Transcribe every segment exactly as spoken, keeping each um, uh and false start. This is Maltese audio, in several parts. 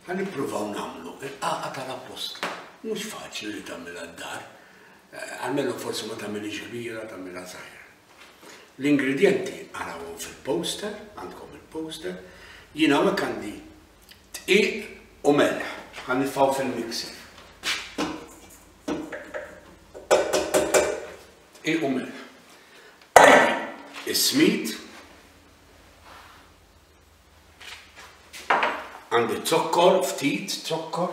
Ħa nippruvaw nagħmlu il-qagħqa tal-appostli. Mhux faċli li tagħmilha d-dar, almenu forsi ma tagħmilhiex kbira, tagħmilha żgħira. L-ingredjenti arawhom fil-poster, għandkom il-poster. Jiena hawnhekk għandi dqiq u melħ, ħa nitfgħu fil-mixer. Dqiq u melħ. Għandi is-smid, għandi zokkor, ftit zokkor.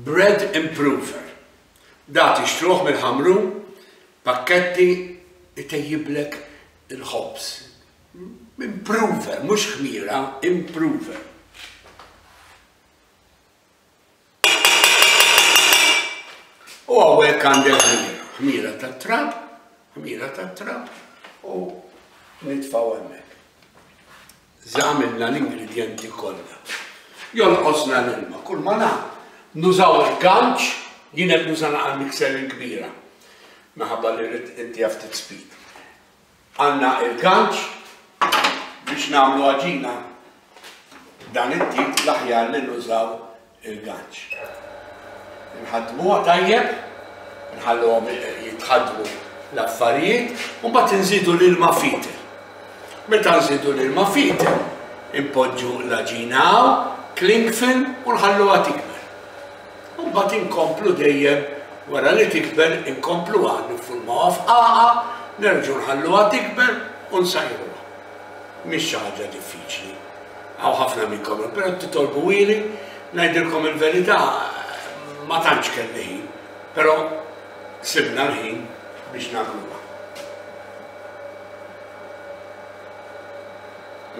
Bread improver. Da tixtruh mill-Ħamrun, pakketti itejjiblek il-ħobż. Improver, mhux ħmira, improver. U hawnhekk għandek ħmira, ħmira tat-trab, ħmira tat-trab u nitfgħu hemmhekk. Żgħamilna l-ingredjenti kollha. Jonqosna l-ilma, kull ma nagħmlu. Nużaw il-ganċ, jien qed nuża naqal mixer il-kbira, minħabba li rrid inti ftit speed. Għandna il-ganċ biex nagħmlu għaġina dan it-tip l-aħjar li nużaw il-ganċ. Nħaddmuha tajjeb, nħalluhom jitħaddmu l-affarijiet, u mbagħad inżidu l-ilma fitel. Meta nżidu l-ilma fitel, impoġġu l-għaġina hawn, cling film u nħalluha tikber. U mbagħad inkomplu dejjem wara li tikber inkompluha niffurmawha f'qagħqa, nerġgħu nħalluha tikber u nsajruha. Mhix xi ħaġa diffiċli. Hawn ħafna minnkom, però titolbu ili, ngħidilkom il-verità ma tantx kelli ħin, però sibna l-ħin biex nagħmluha.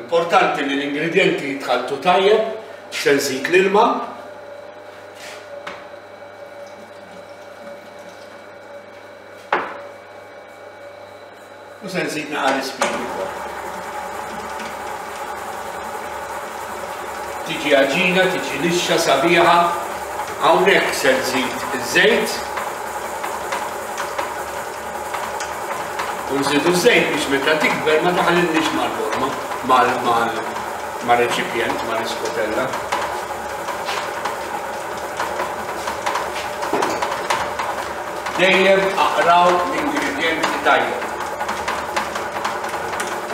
Importanti li l-ingredjenti jitħalltu tajjeb, se nżid l-ilma. U se nżid naqra l-ispid ukoll. Tiġi għaġina, tiġi lixxa sabiħa. Hawnhekk se nżid iż-żejt. U nżidu ż-żejt biex meta tikber ma taħlilniex mal-forma, mal-reċipjent, mal-iskotella. Dejjem aqraw l-ingredjenti tajjeb.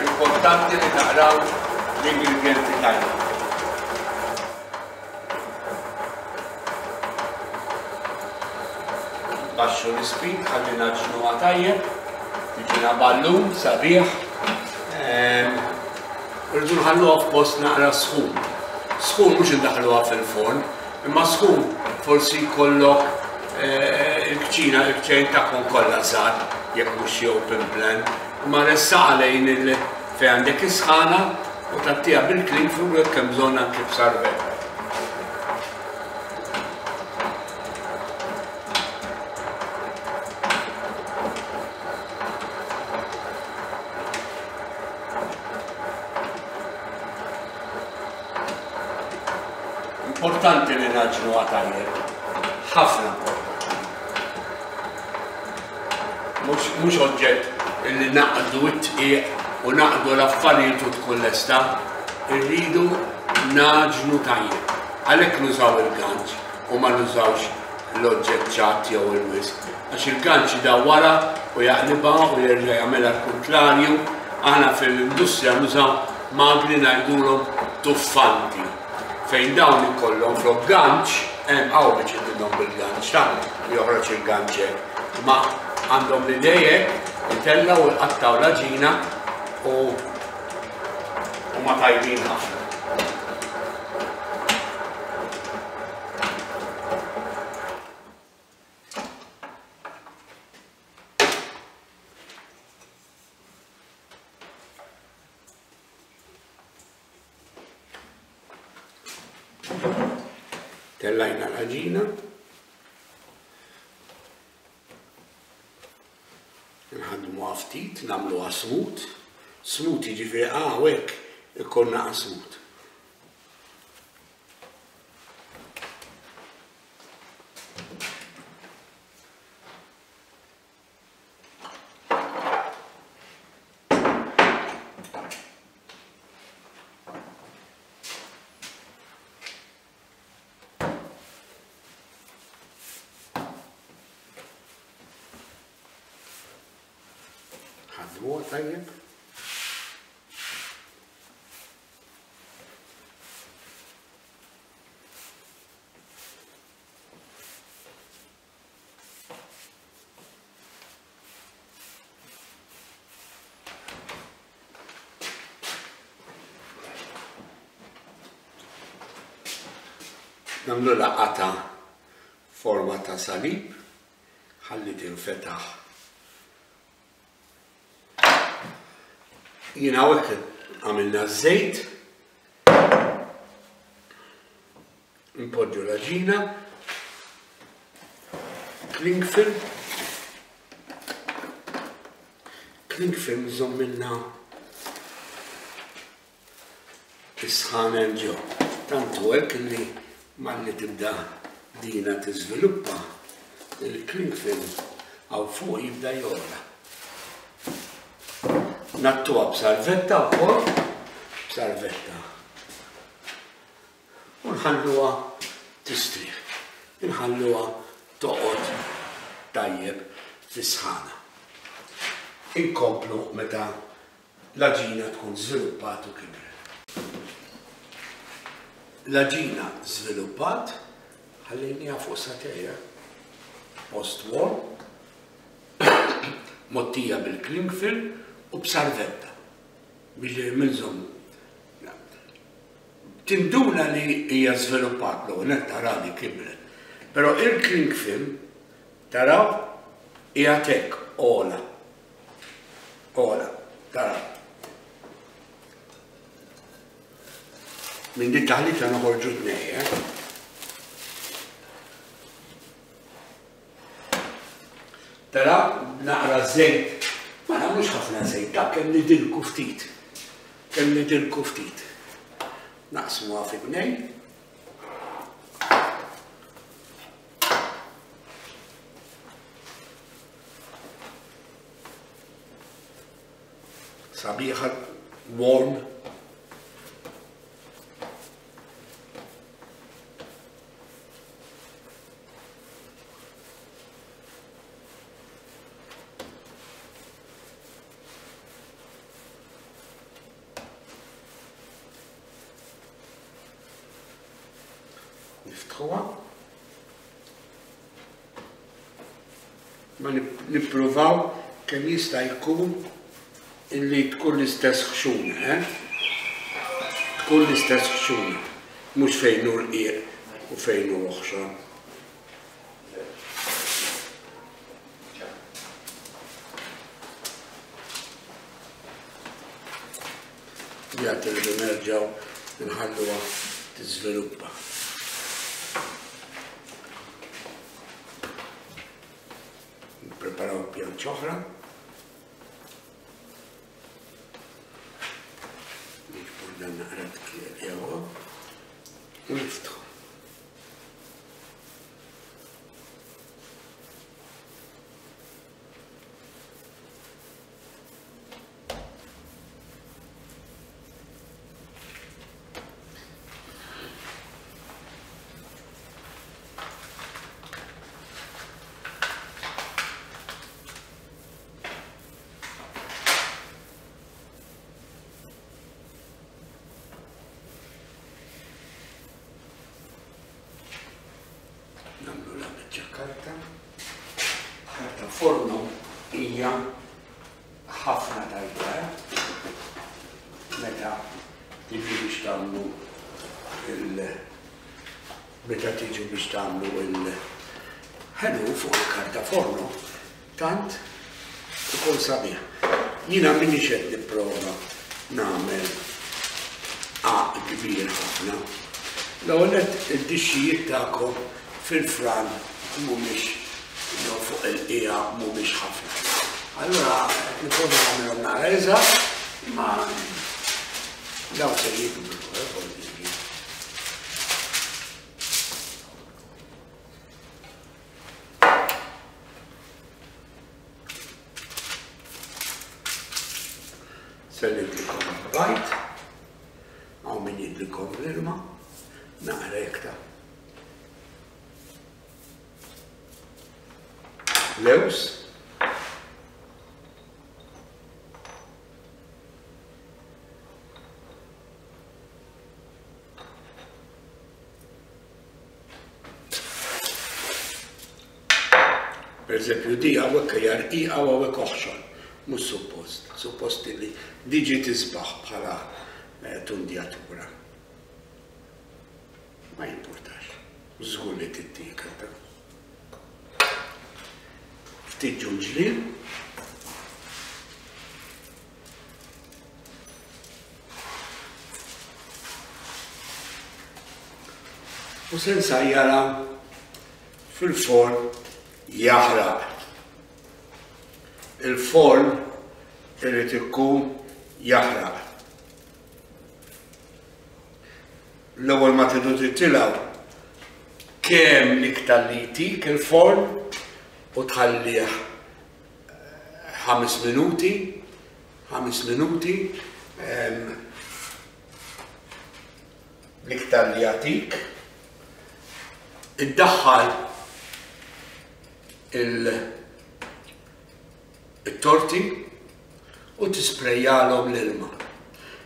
Importanti li taqraw l-ingredjenti tajjeb. Baxxu l-ispid, ħalli naġnuha tajjeb, tiġina ballun sabiħ. Ehm, irridu nħalluha f'post naqra sħun. Sħun mhux indaħluha fil-forn, imma sħun forsi jkollok, eh, il-kċina, il-kċejn tagħkom kollha żgħar, jekk mhux xi open plan, imma ressaqa lejn il fejn għandek is-sħana u tagħtiha bil-cling film jekk hemm bżonn anke b'sarvetta. Importanti li naġnuha tajjeb, ħafna importanti. Mhux oġġett li naqdu t-tqiq u naqdu l-affarijiet u tkun lesta, irridu naġnu tajjeb. Għalhekk nużaw il-ganċ u ma nużawx l-oġġett ċatt jew il-wisq, għax il-ganċ idawwarha u jaqlibha u jerġa' jagħmilha l-kuntrarju. Aħna fil-industrija nużaw magni ngħidulhom tuffanti, fejn dawn ikollhom flok ganċ, hemm hawn biex idilhom bil-ganċ ta' joħroġ il-ganċ hekk, imma għandhom l-idea hekk, itellgħu u jqattgħu l-għaġina u huma tajbin ħafna. Tellajna l-għaġina. Nħaddmuha ftit, nagħmluha smooth. Smooth jiġifieri hawnhekk ikollna smooth. Naħdmuha tajjeb. Nagħmlu laqata forma ta' salib, ħalli tinfetaħ. Jien hawnhekk għamilna ż-żejt, npoġġu l-għaġina, cling film, cling film żommilna is-sħan hemm ġew. Tant hu hekk li malli tibda dina tiżviluppa, il-cling film hawn fuq jibda jogħla. Nattuha b'salvetta wkoll, b'salvetta. U nħalluha tistrieħ, nħalluha toqgħod tajjeb fis-sħana. Inkomplu meta l-għaġina tkun żviluppat u kibret. L-għaġina żviluppat, ħallejniha fuq satejja, post warm, mottija bil-cling film u b'salvetta biex minżom. Tinduna li hija żviluppat l net tara li kibret. Però il-cling film taraw hija tek ola. Ola, taraw. Minn din taħlita noħorġu tnej, eh? Tara, naqra żejt. Ma nagħmlux ħafna żejt, ta' kemm nidilku ftit. Kemm nidilku ftit. Naqsmuha fi tnejn. Sabiħa, warm. Niftħuha. Ma nippruvaw kemm jista' jkun illi tkun l-istess ħxuna, eh? Tkun l-istess ħxuna, mhux fejn hu rqiq u fejn hu oħxon. Jagħti li nerġgħu nħalluha tiżviluppa. Preparaw pjanċa oħra. Niġbru dan naqra jew u niftħu. Karta. Karta forno hija ħafna tajba, eh? Meta tiġu biex tagħmlu il meta tiġu biex tagħmlu il-ħelu fuq il-karta forno, tant ikun sabiħ. Jiena minix qed nipprova nagħmel għaq kbir ħafna. L-ewwel nett id-dixxijiet tagħkom fil-fran mhumiex jew fuq il-qiegħa mhumiex ħafna. Allura qed nipprova nagħmilhom naqra iżgħar, imma dawn se jikbru, eh, forsi. Se nidlikom il-bajt, hawn min jidlikom l-ilma, naqra iktar. Lews. Per eżempju, di hawnhekk hija rqiqa u hawnhekk oħxon. Mhux suppost, suppost li diġi tisbaħ bħala tundjatura. Ma jimpurtax, żgur li tittiekel ta'. Ftit ġunġlien. U se nsajjarha fil-forn jaħraq. Il-forn irid ikun jaħraq. L-ewwel ma tridu titilgħu kemm l-iktar li jtik il-forn u tħallih ħames minuti, ħames minuti, l-iktar li jagħtik. Iddaħħal il-torti u tisprejjalhom l-ilma.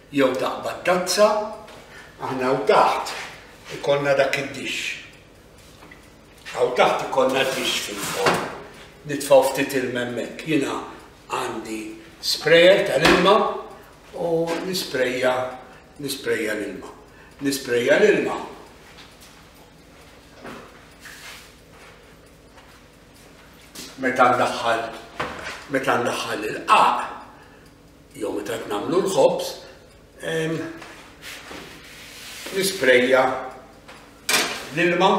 Jew taqbad tazza, aħna hawn taħt ikollna dak id-dix. Hawn taħt ikollna dix fil-forn. Nitfgħu ftit ilma hemmhekk. Jiena għandi sprayer tal-ilma u nisprejja, nisprejja l-ilma. Nisprejja l-ilma. Meta ndaħħal, meta ndaħħal il-qaq, jew meta nagħmlu l-ħobż, nisprejja l-ilma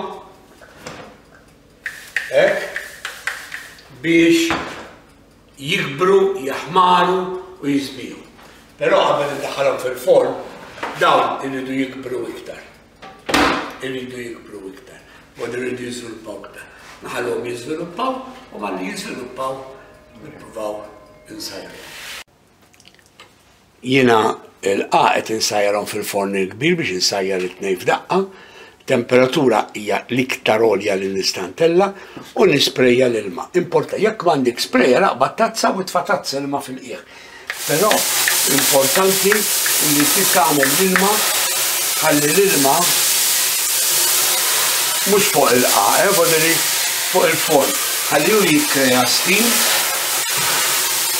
hekk biex jikbru, jaħmaru u jiżbiju. Però qabel indaħħalhom fil-forn, dawn iridu jikbru iktar. Iridu jikbru iktar. U iridu jiżviluppaw iktar. Naħalhom jiżviluppaw u malli jiżviluppaw nippruvaw insajru. Jiena l-qaq qed insajjarhom fil-forn il-kbir biex insajjar it-tnejn f'daqqa. Temperatura hija l-iktar għolja li nista' ntella' u nisprejja l-ilma. Importa, jekk m'għandek sprayer aqbad tazza u tfa' tazza ilma fil-qiegħ. Però importanti li tagħmel l-ilma, ħalli l-ilma mhux fuq il-qaq, eh, voderi fuq il-forn. Ħalli hu jikkrea steam.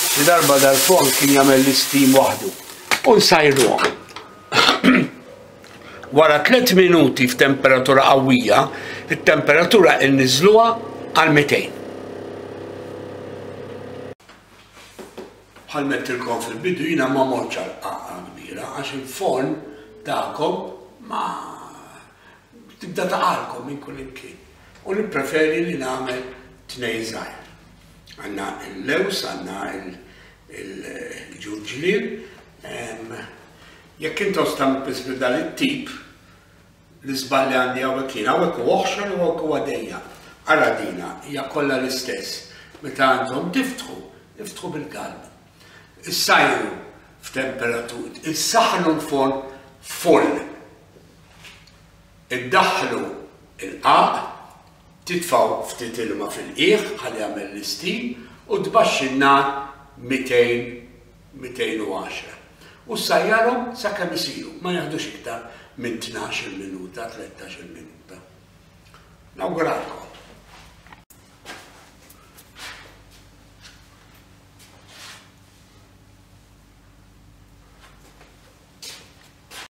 Xi darba dal-forn kien jagħmel l-steam waħdu. U nsajruhom. Wara tliet minuti f'temperatura qawwija, it-temperatura inniżluha għal mitejn. Bħal mettilkom fil-bidu jiena ma mortx għal qaqqa kbira għax il-forn tagħkom ma tibda taqalkom minn kull imkien. U nippreferi li nagħmel tnejn żgħir. Għandna l-lews, għandna il-ġurġlien. Jekk intom stamp dan it-tip, l-iżball li għandi hawnhekk jien, hawnhekk huwa oħxon u hawnhekk huwa dejja. Ara dina, hija kollha l-istess. Meta għandhom tiftħu, iftħu bil-galbu. Issajru f'temperatura, issaħħnu l-forn full. Iddaħħlu il-qaq, titfgħu ftit ilma fil-qiegħ ħalli jagħmel l-istim u tbaxxi n-nar mitejn, mitejn u għaxra. U sajjarhom sakemm isiru, ma jaħdux iktar minn tnax-il minuta, tlettax-il minuta. Nawguralkom.